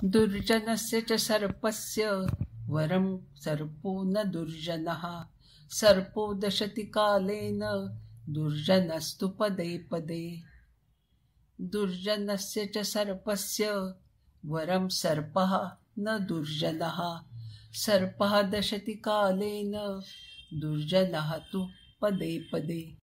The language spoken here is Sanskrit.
दुर्जनस्य च सर्पस्य वरं सर्पो न दुर्जनः सर्पो दशति कालेन दुर्जनस्तु पदे पदे दुर्जनस्य च सर्पस्य वरं सर्पः न दुर्जनः सर्पः दशति कालेन दुर्जनः तु पदे पदे।